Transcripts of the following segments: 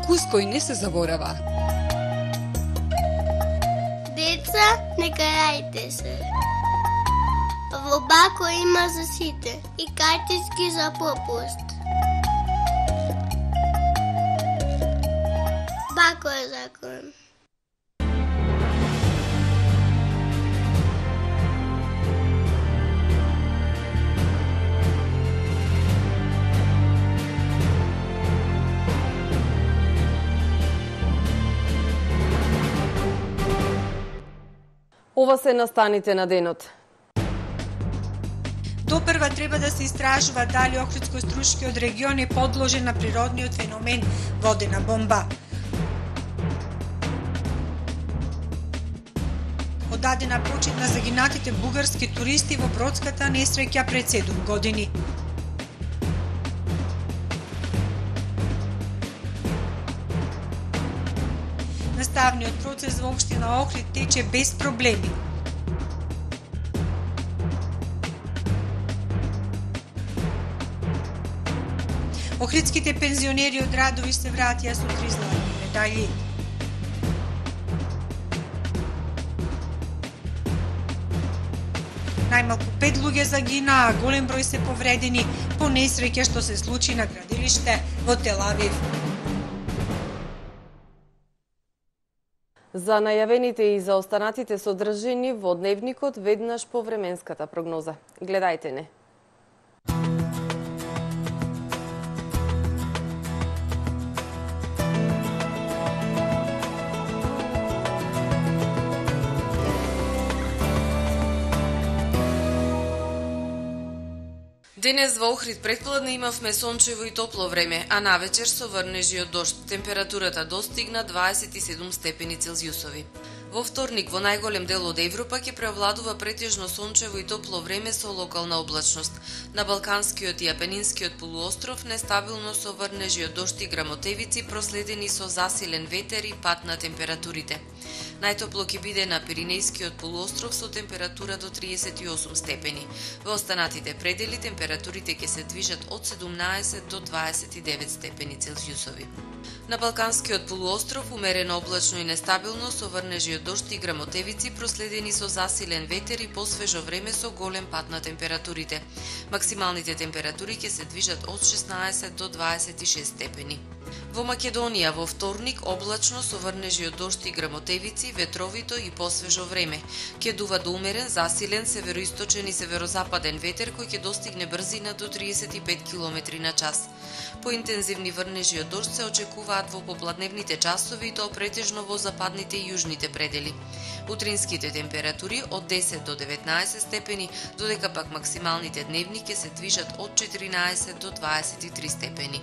Вкус кој не се заборава. Деца, не карајте се. Во Бако има за сите и картички за попуст. Бако е закон. Ова се настаните на денот. Допрва треба да се истражува дали Охридско-Струшкиот регион е подложен на природниот феномен водена бомба. Одадена почит на загинатите бугарски туристи во бродската несреќа пред 7 години. Наставниот процес во општина Охрид тече без проблеми. Охридските пензионери од Радови се вратија со 3 златни медали. Најмалку 5 луѓе загинаа, а голем број се повредени по несреќа што се случи на градилиште во Тел Авив. За најавените и за останатите содржини во дневникот веднаш по временската прогноза. Гледајте не. Денес во Охрид претпладне имавме сончево и топло време, а навечер со врнежи од дожд. Температурата достигна 27 степени Целзиусови. Во вторник во најголем дел од Европа ќе преовладува претежно сончево и топло време со локална облачност. На Балканскиот и Апенинскиот полуостров нестабилно со врнежи од дожд и грамотевици проследени со засилен ветер и пад на температурите. Најтопло ќе биде на Пиринејскиот полуостров со температура до 38 степени. Во останатите предели температурите ќе се движат од 17 до 29 степени Целзиусови. На Балканскиот полуостров умерено облачно и нестабилно со врнежи од дожд и грамотевици проследени со засилен ветер и посвежо време со голем пад на температурите. Максималните температури ќе се движат од 16 до 26 степени. Во Македонија во вторник облачно со врнежи од дожд и грамотевици, ветровито и посвежо време. Ќе дува до умерен, засилен североисточен и северозападен ветер кој ќе достигне брзина до 35 км на час. Поинтензивни врнежи од дожд се очекуваат во попладневните часови и тоа претежно во западните и јужните предели. Утринските температури од 10 до 19 степени, додека пак максималните дневни ќе се движат од 14 до 23 степени.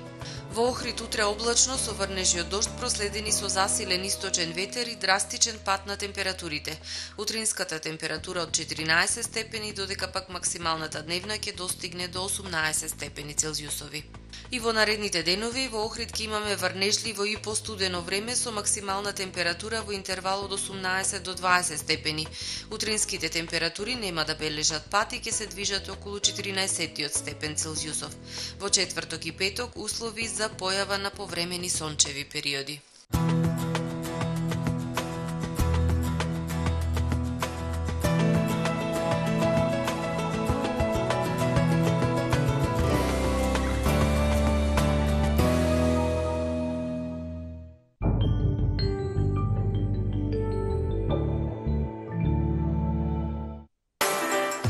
Во Охрид утре облачно со врнежи од дожд проследени со засилен источен ветер и драстичен пад на температурите. Утринската температура од 14 степени, додека пак максималната дневна ќе достигне до 18 степени Целзиусови. И во наредните денови во Охрид ќе имаме врнежливо и постудено време со максимална температура во интервал од 18 до 20 степени. Утринските температури нема да бележат пад и ќе се движат околу 14 степен Целзиусов. Во четврток и петок услови за појава на повремени сончеви периоди.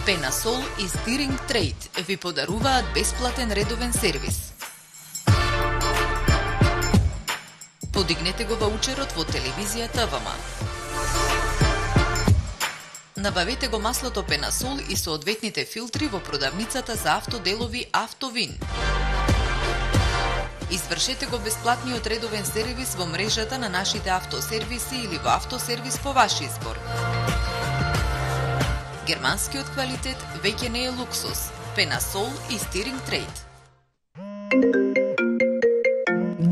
Пенасол и Steering Trade ви подаруваат бесплатен редовен сервис. Подигнете го ваучерот во телевизијата ВМ. Набавете го маслото Пенасол и соодветните филтри во продавницата за автоделови Автовин. Извршете го бесплатниот редовен сервис во мрежата на нашите автосервиси или во автосервис по ваш избор. Германскиот квалитет веќе не е луксус. Пенасол и Steering Trade.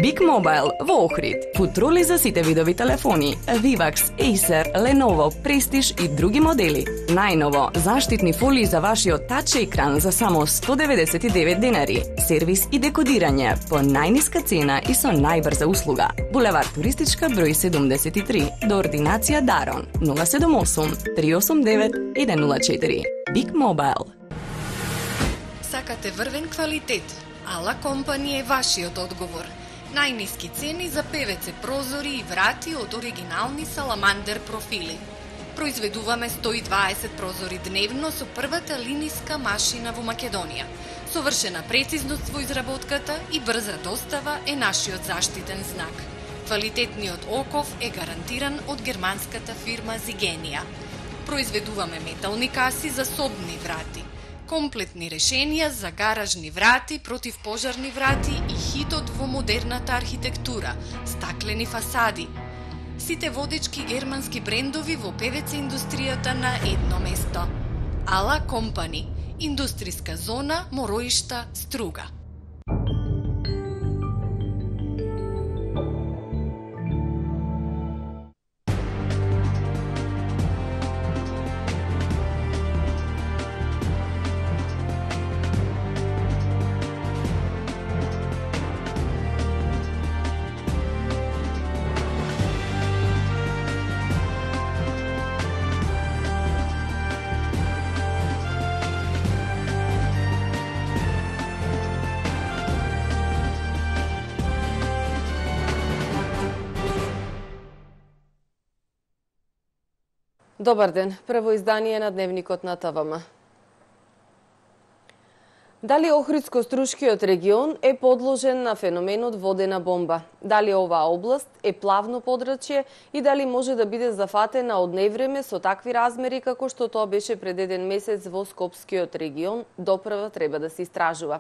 Биг Big Mobile во Охрид. Футроли за сите видови телефони, Vivax, Acer, Lenovo, Prestige и други модели. Најново, заштитни фолии за вашиот тач екран за само 199 денари. Сервис и декодирање по најниска цена и со најбрза услуга. Булевар Туристичка број 73 до ординација Дарон 078 389 104. Big Mobile. Сакате врвен квалитет? Ала Компани е вашиот одговор. Најниски цени за ПВЦ прозори и врати од оригинални саламандер профили. Произведуваме 120 прозори дневно со првата линиска машина во Македонија. Совршена прецизност во изработката и брза достава е нашиот заштитен знак. Квалитетниот оков е гарантиран од германската фирма Зигенија. Произведуваме метални каси за собни врати, комплетни решенија за гаражни врати, противпожарни врати и хитот во модерната архитектура, стаклени фасади. Сите водечки германски брендови во ПВЦ индустријата на едно место. Ала Компани, индустријска зона Мороишта, Струга. Добар ден, прво издание на Дневникот на ТВМ. Дали Охридско-Струшкиот регион е подложен на феноменот водена бомба? Дали оваа област е плавно подрачје и дали може да биде зафатена од невреме со такви размери како што тоа беше пред еден месец во Скопскиот регион, допрва треба да се истражува.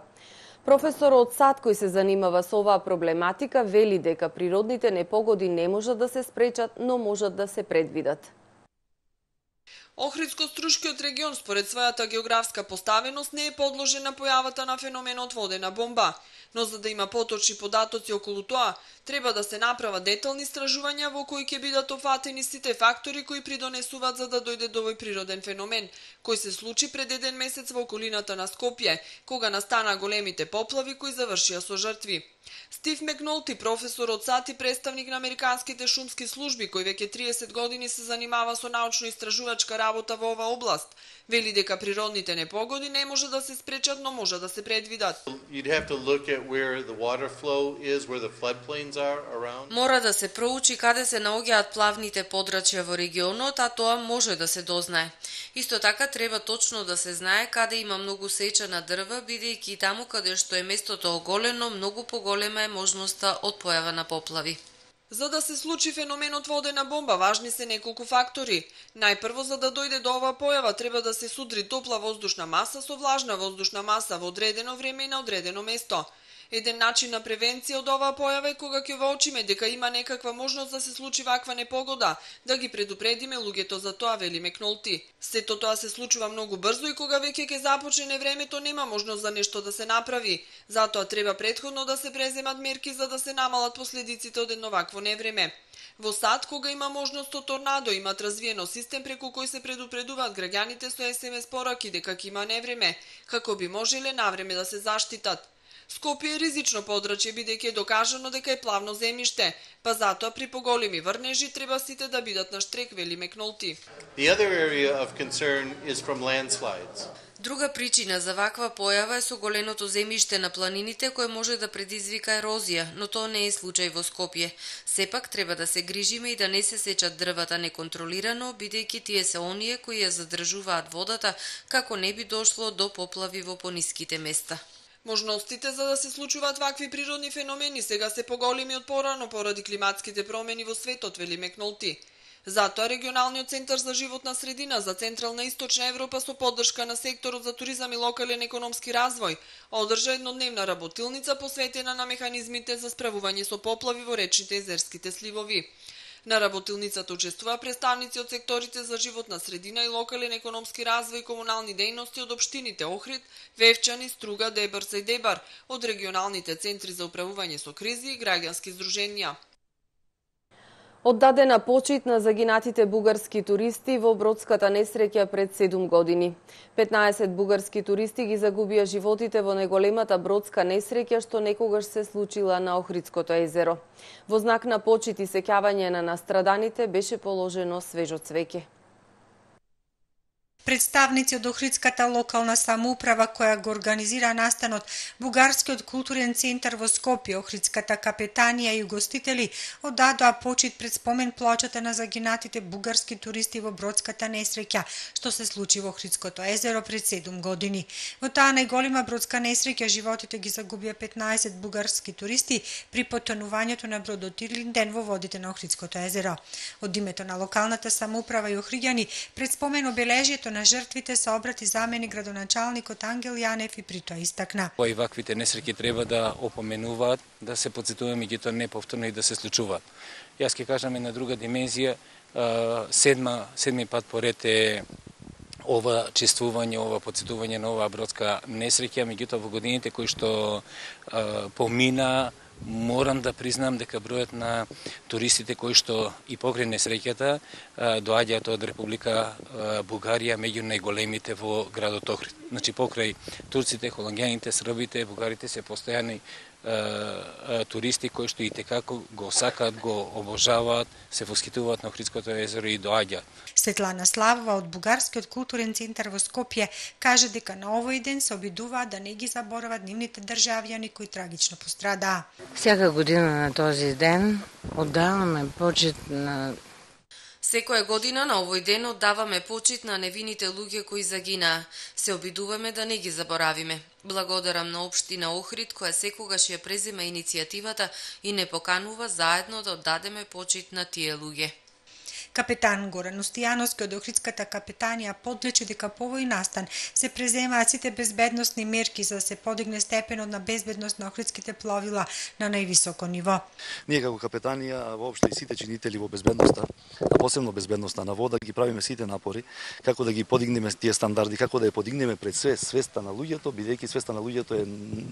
Професор од САД кој се занимава со оваа проблематика вели дека природните непогоди не можат да се спречат, но можат да се предвидат. Охридско-Струшкиот регион според својата географска поставеност не е подложен на појавата на феноменот водена бомба, но за да има поточни податоци околу тоа, треба да се направат детални истражувања во кои ќе бидат офатени сите фактори кои придонесуваат за да дојде до овој природен феномен, кој се случи пред еден месец во околината на Скопје, кога настана големите поплави кои завршија со жртви. Стив Макнолти, професор од САД и представник на американските шумски служби, кој веќе 30 години се занимава со научно-истражувачка работа во оваа област, вели дека природните непогоди не може да се спречат, но може да се предвидат. Мора да се проучи каде се наоѓаат плавните подрачја во регионот, а тоа може да се дознае. Исто така треба точно да се знае каде има многу сечена дрва, бидејќи таму каде што е местото оголено, многу поголема е можноста од појава на поплави. За да се случи феноменот водена бомба, важни се неколку фактори. Најпрво, за да дојде до оваа појава, треба да се судри топла воздушна маса со влажна воздушна маса во одредено време и на одредено место. Еден начин на превенција од оваа појава е кога ќе воочиме дека има некаква можност да се случи ваква непогода, да ги предупредиме луѓето за тоа, вели Макнолти. Сето тоа се случува многу брзо и кога веќе ќе започне времето нема можност за нешто да се направи. Затоа треба претходно да се преземат мерки за да се намалат последиците од едно вакво невреме. Во САД, кога има можност од торнадо, имат развиено систем преку кој се предупредуваат граѓаните со SMS пораки дека ќе има невреме, како би можеле навреме да се заштитат. Скопје е ризично подрачје бидејќи е докажано дека е плавно земјиште, па затоа при поголеми врнежи треба сите да бидат на штрек, вели Макнолти. Друга причина за ваква појава е соголеното земјиште на планините кое може да предизвика ерозија, но тоа не е случај во Скопје. Сепак треба да се грижиме и да не се сечат дрвата неконтролирано, бидејќи тие се оние кои ја задржуваат водата, како не би дошло до поплави во пониските места. Можностите за да се случуваат вакви природни феномени сега се поголеми од порано поради климатските промени во светот, вели Макнолти. Затоа регионалниот центар за животна средина за Централна и Источна Европа со поддршка на секторот за туризам и локален економски развој одржа еднодневна работилница посветена на механизмите за справување со поплави во речните и езерските сливови. На работилницата учествува представници од секторите за животна средина и локален економски развој и комунални дејности од општините Охрид, Вевчани, Струга, Дебрца и Дебар, од регионалните центри за управување со кризи и граѓански здруженија. Оддадена почит на загинатите бугарски туристи во бродската несреќа пред 7 години. 15 бугарски туристи ги загубија животите во неголемата бродска несреќа што некогаш се случила на Охридското езеро. Во знак на почит и сеќавање на настраданите беше положено свежо цвеќе. Представници од Охридската локална самоуправа која го организира настанот, Бугарскиот културен центар во Скопје, Охридската капетанија и угостители оддадоа почит пред спомен плочата на загинатите бугарски туристи во бродската несреќа што се случи во Охридското езеро пред 7 години. Во таа најголема бродска несреќа животите ги загубија 15 бугарски туристи при потонувањето на бродот Ирлинден во водите на Охридското езеро. Од името на локалната самоуправа и охриѓани пред спомен обележието на жртвите се обрати заменик градоначалникот Ангел Јанев и при тоа истакна. Овие ваквите несреќи треба да опоменуваат, да се потсетуваат меѓутоа неповторно и да се случуваат. Јас ќе кажам една друга димензија, седми пат поред е ова чествување, ова потсетување на оваа бродска несреќа, меѓутоа во годините кои што помина, морам да признам дека бројот на туристите кои што и покрај несреќата доаѓаат од Република Бугарија меѓу најголемите во градот Охрид. Значи покрај турците, холанѓаните, србите, бугарите се постојани туристи кои што и текако го сакаат, го обожаваат, се восхитуваат на Охридското езеро и доаѓаат. Светлана Славова од Бугарскиот културен центар во Скопје каже дека на овој ден се обидуваат да не ги заборават нивните државјани кои трагично пострадаа. Всяка година на този ден оддаваме почит на Секоја година на овој ден оддаваме почит на невините луѓе кои загинаа. Се обидуваме да не ги заборавиме. Благодарам на општина Охрид која секогаш ја презема иницијативата и не поканува заедно да оддадеме почит на тие луѓе. Капетан Горан Устојановски од Охридската капетанија подлече дека по овој настан се преземаат сите безбедносни мерки за да се подигне степенот на безбедност на охридските пловила на највисоко ниво. Ние како капетанија, воопшто и сите чинители во безбедноста, а посебно безбедноста на вода, ги правиме сите напори како да ги подигнеме тие стандарди, како да ја подигнеме пред све свеста на луѓето, бидејќи свеста на луѓето е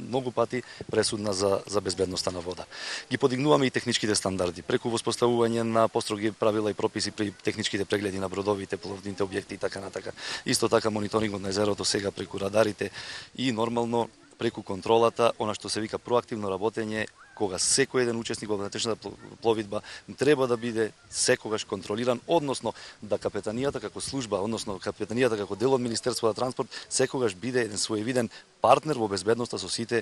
многу пати пресудна за безбедноста на вода. Ги подигнуваме и техничките стандарди преку воспоставување на построги правила и прописи при техничките прегледи на бродовите, пловните објекти и така натака. Исто така мониторингот на езерото сега преку радарите и нормално преку контролата, она што се вика проактивно работење, кога секој еден учесник во внатрешната пловидба треба да биде секогаш контролиран, односно да капетанијата како служба, односно капетанијата како дел од Министерството за транспорт секогаш биде еден своевиден партнер во безбедноста со сите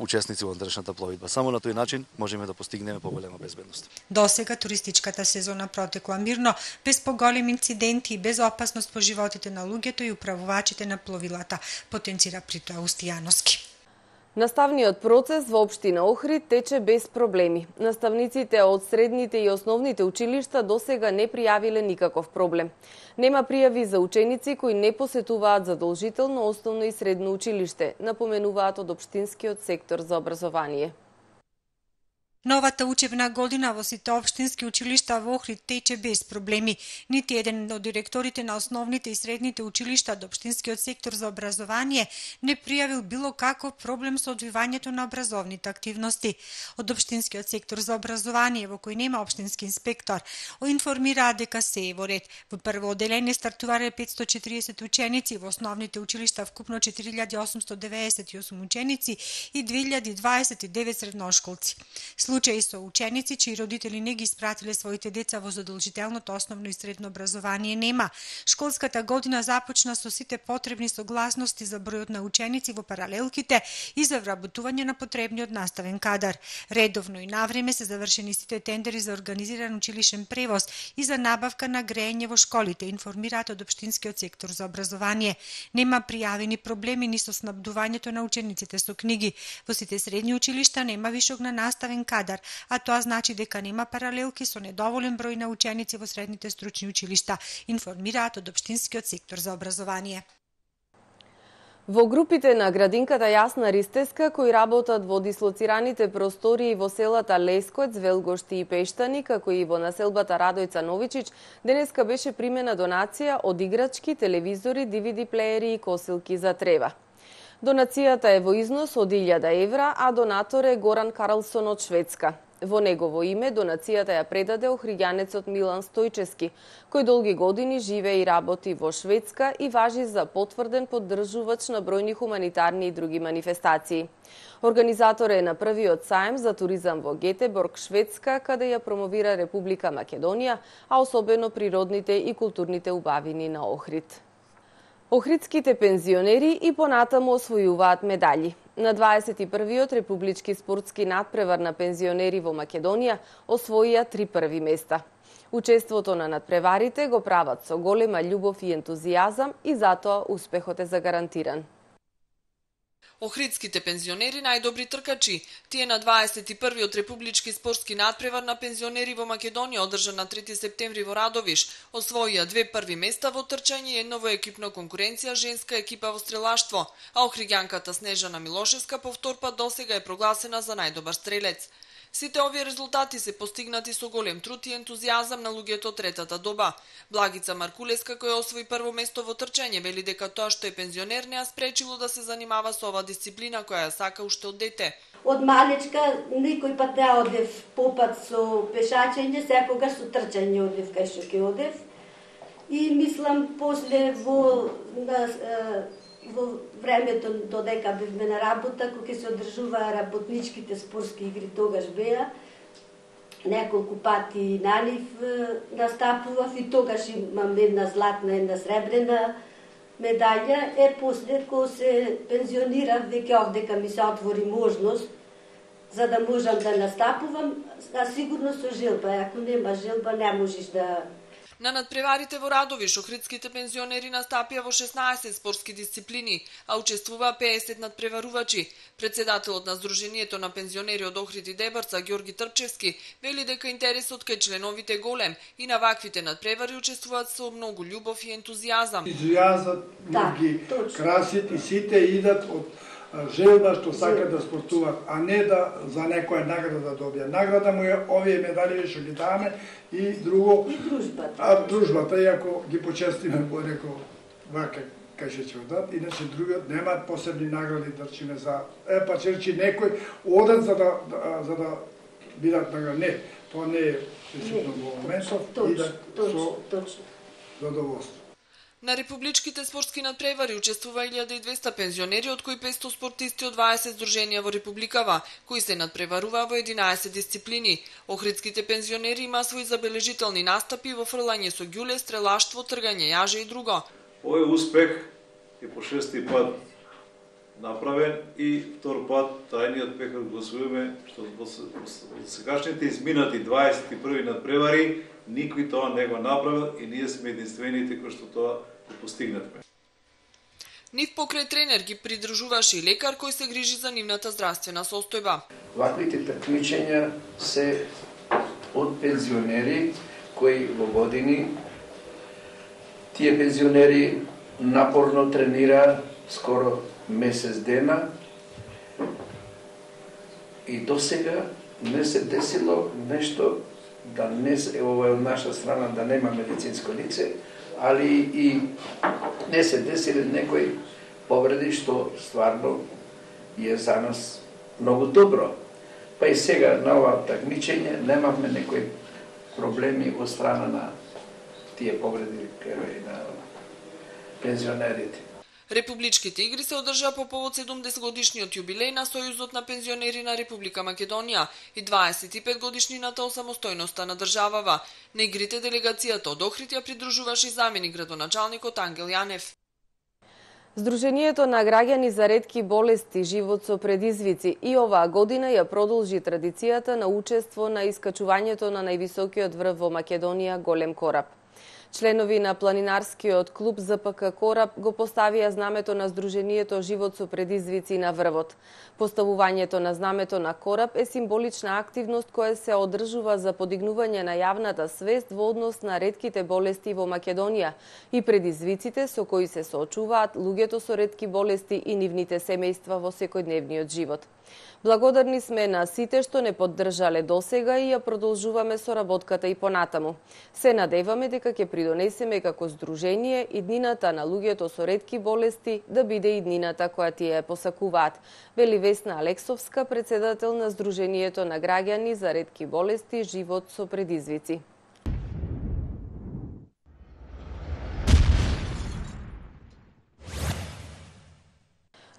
учесници во внатрешната пловидба. Само на тој начин можеме да постигнеме поголема безбедност. Досега туристичката сезона протекла мирно, без поголеми инциденти и без опасност по животите на луѓето и управувачите на пловилата, потенцира при тоа Устојановски. Наставниот процес во општина Охрид тече без проблеми. Наставниците од средните и основните училишта досега не пријавиле никаков проблем. Нема пријави за ученици кои не посетуваат задолжително основно и средно училиште, напоменуваат од општинскиот сектор за образование. Новата учебна година во сите општински училишта во Охрид тече без проблеми. Нити еден од директорите на основните и средните училишта од општинскиот сектор за образование не пријавил било каков проблем со одвивањето на образовните активности. Од општинскиот сектор за образование, во кој нема општински инспектор, информираа дека се е во ред. Во прво оделение стартувале 540 ученици, во основните училишта вкупно 4898 ученици и 2029 средношколци. Случаи со ученици чии родители не ги испратиле своите деца во задолжителното основно и средно образование нема. Школската година започна со сите потребни согласности за бројот на ученици во паралелките и за вработување на потребниот наставен кадар. Редовно и навреме се завршени сите тендери за организиран училишен превоз и за набавка на грејење во школите, информираат од општинскиот сектор за образование. Нема пријавени проблеми ни со снабдувањето на учениците со книги. Во сите средни училишта нема вишок на наставен кадар, а тоа значи дека нема паралелки со недоволен број на ученици во средните стручни училишта, информираат од општинскиот сектор за образование. Во групите на градинката Јасна Ристеска, кои работат во дислоцираните простории во селата Лескоец, Велгошти и Пештани, како и во населбата Радојца Новичич, денеска беше примена донација од играчки, телевизори, DVD плеери и косилки за трева. Донацијата е во износ од 1000 евра, а донатор е Горан Карлсон од Шведска. Во негово име донацијата ја предаде охриѓанецот Милан Стојчески, кој долги години живее и работи во Шведска и важи за потврден поддржувач на бројни хуманитарни и други манифестации. Организатор е на првиот саем за туризам во Гетеборг, Шведска, каде ја промовира Република Македонија, а особено природните и културните убавини на Охрид. Охридските пензионери и понатаму освојуваат медали. На 21-иот републички спортски надпревар на пензионери во Македонија освоија 3 први места. Учеството на надпреварите го прават со голема љубов и ентузијазам и затоа успехот е загарантиран. Охридските пензионери најдобри тркачи. Тие на 21-иот републички спортски надпревар на пензионери во Македонија, одржан на 3 септември во Радовиш, освоија 2 први места во трчање и едно во екипна конкуренција женска екипа во стрелаштво, а охриѓанката Снежана Милошевска по втор пат досега е прогласена за најдобар стрелец. Сите овие резултати се постигнати со голем труд и ентузијазам на луѓето од третата доба. Благица Маркулеска, која освои прво место во трчање, вели дека тоа што е пензионер не ја спречило да се занимава со оваа дисциплина која ја сака уште од дете. Од малечка никој пат не одев попат со пешачење, секогаш со трчање одев кај што ќе одев. И мислам после во времето додека бевме на работа, кога се одржуваа работничките спортски игри, тогаш беа, неколку пати на нив настапував и тогаш имам една златна, една сребрена медаља. После кога се пензионирав, веќе овдека ми се отвори можност за да можам да настапувам, а сигурно со желба. Ако нема желба, не можеш да... На надпреварите во Радовиш, охридските пензионери настапија во 16 спортски дисциплини, а учествуваа 50 надпреварувачи. Председателот на Сдруженијето на пензионери од Охрид и Дебарца, Ѓорги Трпчевски, вели дека интересот кај членовите е голем и на ваквите надпревари учествуваат со многу љубов и ентузијазам. Ентузијазат ги красит и сите идат од желба што сакат да спортуваат, а не да за некоја награда да добија. Награда му е овие медали што ги даваме и друго. И дружбата. А дружбата, иако ги почестиме по некој вака кај што ќе одат, иначе другиот немаат посебни награди да речиме за па ќе речи некој одат за да бидат награди. Не, тоа не е присутно во моментот, идат со задоволство. На републичките спортски надпревари учествува 1200 пензионери, од кои 500 спортисти од 20 здруженија во Републикава, кои се надпреваруваа во 11 дисциплини. Охридските пензионери има свои забележителни настапи во фрлање со ѓуле, стрелаштво, тргање јаже и друго. Овој успех е по 6-ти пат направен и втор пат тајниот пехот го освоиме, што во сегашните изминати 21 надпревари никој тоа не го направил и ние сме единствените кои што тоа го постигнатме. Нив покрај тренер ги придружуваше и лекар кој се грижи за нивната здравствена состојба. Ваквите такмичења се од пензионери кои во години, тие пензионери напорно тренира скоро месец дена и досега не се десило нешто да не се, ова е од наша страна да нема медицинско лице, али и не се десили некои повреди што стварно е за нас многу добро. Па и сега на ова такмичење немавме некои проблеми од страна на тие повреди на пензионерите. Републичките игри се одржаа по повод 70 годишниот јубилеј на Сојузот на пензионери на Република Македонија и 25 годишнината од самостојноста на државава. На игрите делегацијата од Охрид ја придружуваше заменик градоначалникот Ангел Јанев. Сдруженијето на граѓани за ретки болести Живот со предизвици и оваа година ја продолжи традицијата на учество на искачувањето на највисокиот врв во Македонија Голем кораб. Членови на планинарскиот клуб ЗПК Кораб го поставија знамето на Сдруженијето Живот со предизвици на врвот. Поставувањето на знамето на Кораб е символична активност која се одржува за подигнување на јавната свест во однос на ретките болести во Македонија и предизвиците со кои се соочуваат луѓето со ретки болести и нивните семејства во секојдневниот живот. Благодарни сме на сите што не поддржале досега и ја продолжуваме соработката и понатаму. Се надеваме дека ќе придонесеме како здружение и днината на луѓето со ретки болести да биде и днината која тие ја посакуваат, вели Весна Алексовска, председател на Сдруженијето на граѓани за ретки болести Живот со предизвици.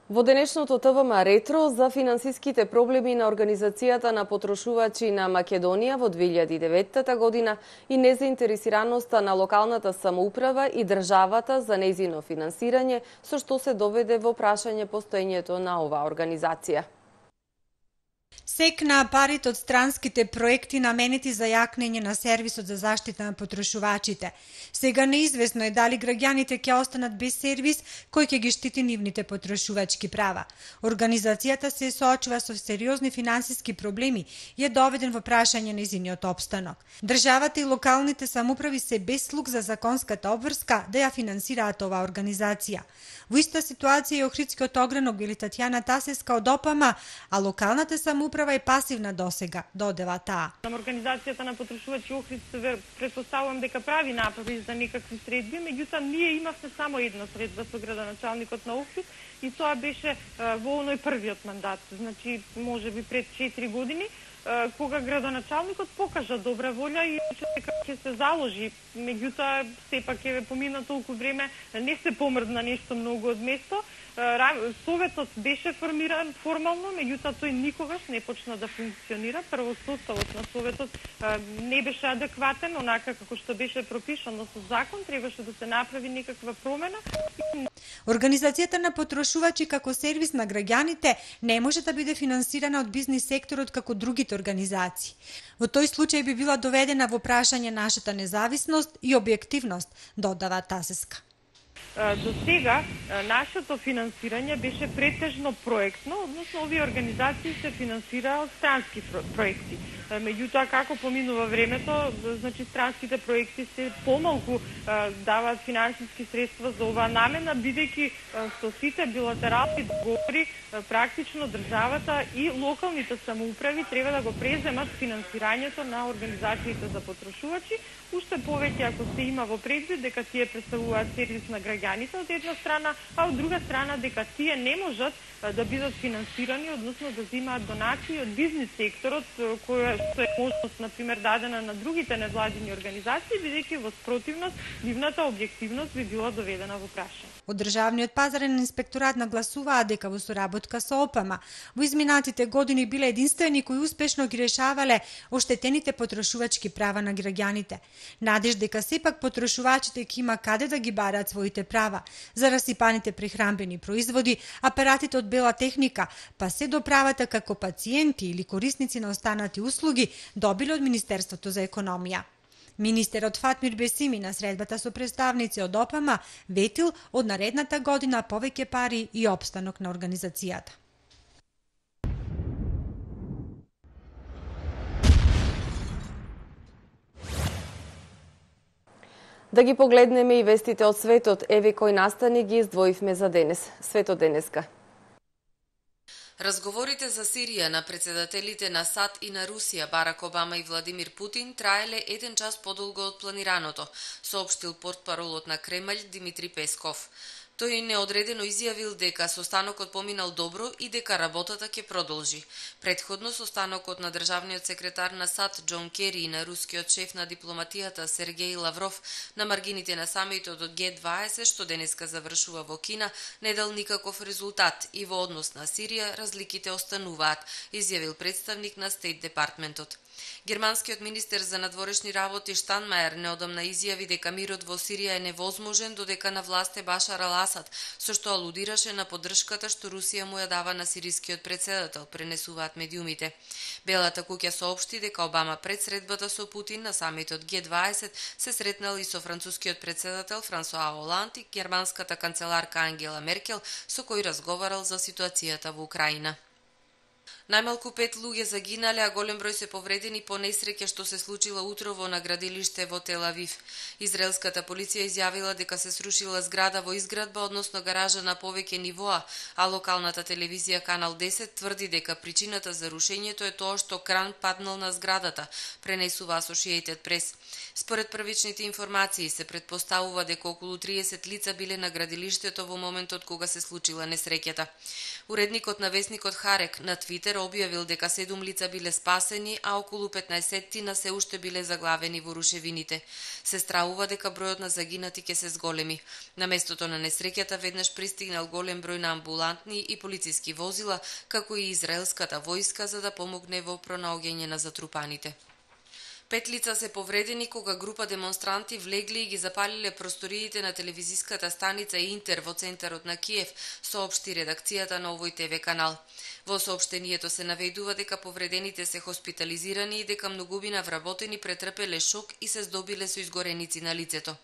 Во денешното ТВМ ретро за финансиските проблеми на Организацијата на потрошувачи на Македонија во 2009 година и незаинтересираноста на локалната самоуправа и државата за нејзино финансирање, со што се доведе во прашање постоењето на оваа организација. Секна парите од странските проекти наменети за јакнење на сервисот за заштита на потрошувачите. Сега неизвестно е дали граѓаните ќе останат без сервис кој ќе ги штити нивните потрошувачки права. Организацијата се соочува со сериозни финансиски проблеми и е доведен во прашање нејзиниот опстанок. Државата и локалните самоуправи се без слух за законската обврска да ја финансираат оваа организација. Во иста ситуација е Охридскиот огранок или Татјана Тасеска од ОПМ, а локалната самоуправа е пасивна досега, додева таа. Организацијата на потрошувачи Охрид претпоставувам дека прави напори за некакви средби, меѓутоа ние имавме само една средба со градоначалникот на Охрид и тоа беше во оној првиот мандат, значи можеби пред 4 години, кога градоначалникот покажа добра волја и дека ќе се заложи, меѓутоа сепак е помина толку време, не се помрдна нешто многу од место. Советот беше формиран формално, меѓутоа тој никогаш не почна да функционира. Прво составот на советот не беше адекватен, онака како што беше пропишано со закон, требаше да се направи некаква промена. Организацијата на потрошувачи како сервис на граѓаните не може да биде финансирана од бизнис секторот како другите организации. Во тој случај би била доведена во прашање нашата независност и објективност, додава Тасеска. До сега нашето финансирање беше претежно проектно, односно овие организации се финансираа од странски проекти. Меѓутоа, како поминува времето, значи странските проекти се помалку даваат финансиски средства за оваа намена, бидејќи со сите билатерални договори практично државата и локалните самоуправи треба да го преземат финансирањето на организациите за потрошувачи, уште повеќе ако се има во предвид дека тие представуваат сервис на граѓаните од една страна, а од друга страна дека тие не можат да бидат финансирани, односно да земаат донации од бизнис секторот, која што е можност, например, дадена на другите невладини организации, бидејќи во спротивност нивната објективност би била доведена во прашање. Од Државниот пазарен инспекторат нагласуваа дека во соработка со ОПМ во изминатите години биле единствени кои успешно ги решавале оштетените потрошувачки права на граѓаните. Надеж дека сепак потрошувачите ќе има каде да ги бараат своите права за расипаните прехранбени производи, апаратите од бела техника, па се до правата како пациенти или корисници на останати услуги добиле од Министерството за економија. Министерот Фатмир Бесими на средбата со представници од ОПМ ветил од наредната година повеќе пари и опстанок на организацијата. Да ги погледнеме и вестите од светот, еве кои настани ги издвоивме за денес. Светот денеска. Разговорите за Сирија на председателите на САД и на Русија, Барак Обама и Владимир Путин, траеле 1 час подолго од планираното, соопштил портпаролот на Кремљ Димитри Песков. Тој неодредено изјавил дека состанокот поминал добро и дека работата ќе продолжи. Претходно состанокот на државниот секретар на САД Џон Кери и на рускиот шеф на дипломатијата Сергеј Лавров на маргините на самитот од Г20 што денеска завршува во Кина не дал никаков резултат и во однос на Сирија разликите остануваат, изјавил представник на Стейт Департментот. Германскиот министер за надворешни работи Штанмајер неодамна изјави дека мирот во Сирија е невозможен додека на власт е Башар ал-Асад, со што алудираше на поддршката што Русија му ја дава на сирискиот претседател, пренесуваат медиумите. Белата куќа соопшти дека Обама пред средбата со Путин на самитот Г20 се сретнал и со францускиот претседател Франсуа Оланд и германската канцеларка Ангела Меркел, со кој разговарал за ситуацијата во Украина. Најмалку 5 луѓе загинале, а голем број се повредени по несреќа што се случила утрово на градилиште во Тел Авив. Израелската полиција изјавила дека се срушила зграда во изградба, односно гаража на повеќе нивоа, а локалната телевизија Канал 10 тврди дека причината за рушењето е тоа што кран паднал на зградата, пренесува Associated Press. Според првичните информации се претпоставува дека околу 30 лица биле на градилиштето во моментот кога се случила несреќата. Уредникот на весникот Харек на Твитер објавил дека 7 лица биле спасени, а околу 15 се уште биле заглавени во рушевините. Се стравува дека бројот на загинати ќе се зголеми. На местото на несреќата веднаш пристигнал голем број на амбулантни и полициски возила, како и израелската војска за да помогне во пронаоѓање на затрупаните. 5 лица се повредени кога група демонстранти влегли и ги запалиле просториите на телевизиската станица Интер во центарот на Киев, соопшти редакцијата на овој ТВ канал. Во соопштението се наведува дека повредените се хоспитализирани и дека многубина вработени претрпеле шок и се здобиле со изгореници на лицето.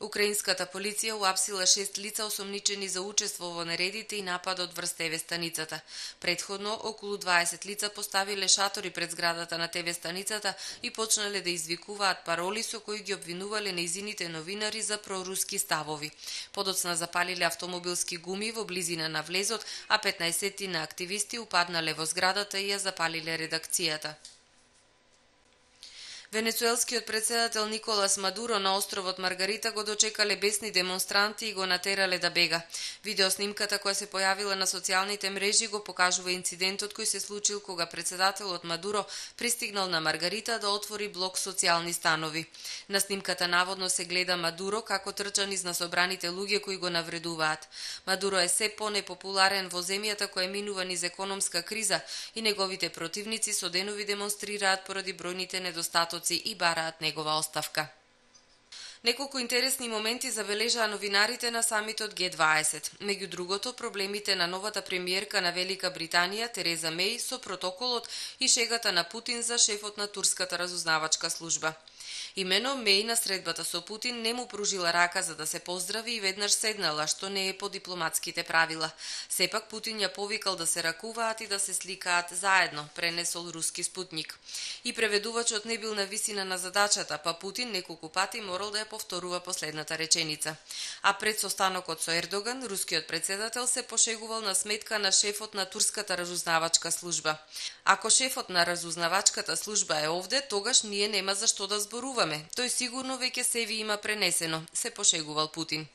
Украинската полиција уапсила 6 лица осомничени за учество во нередите и нападот врз ТВ станицата. Претходно, околу 20 лица поставиле шатори пред зградата на ТВ станицата и почнале да извикуваат пароли со кои ги обвинувале нејзините новинари за проруски ставови. Подоцна запалиле автомобилски гуми во близина на влезот, а 15 на активисти упаднале во зградата и ја запалиле редакцијата. Венецуелскиот претседател Николас Мадуро на островот Маргарита го дочекале бесни демонстранти и го натерале да бега. Видеоснимката која се појавила на социјалните мрежи го покажува инцидентот кој се случил кога претседателот Мадуро пристигнал на Маргарита да отвори блок социјални станови. На снимката наводно се гледа Мадуро како трча низ насобраните луѓе кои го навредуваат. Мадуро е се понепопуларен во земјата која минува низ економска криза и неговите противници со денови демонстрираат поради бројните недостатоци и бараат негова оставка. Неколку интересни моменти забележаа новинарите на самитот Г20. Меѓу другото, проблемите на новата премиерка на Велика Британија, Тереза Меј, со протоколот и шегата на Путин за шефот на турската разузнавачка служба. Имено Меј на средбата со Путин не му пружила рака за да се поздрави и веднаш седнала, што не е по дипломатските правила. Сепак Путин ја повикал да се ракуваат и да се сликаат заедно, пренесол руски Спутник. И преведувачот не бил на висина на задачата, па Путин неколку пати морал да ја повторува последната реченица. А пред состанокот со Ердоган, рускиот претседател се пошегувал на сметка на шефот на турската разузнавачка служба. Ако шефот на разузнавачката служба е овде, тогаш ние нема за што да зборуваме. Тој сигурно веќе се ви има пренесено, се пошегувал Путин.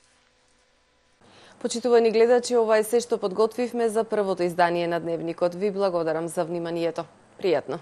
Почитувани гледачи, ова е се што подготвивме за првото издание на Дневникот. Ви благодарам за вниманието. Пријатно.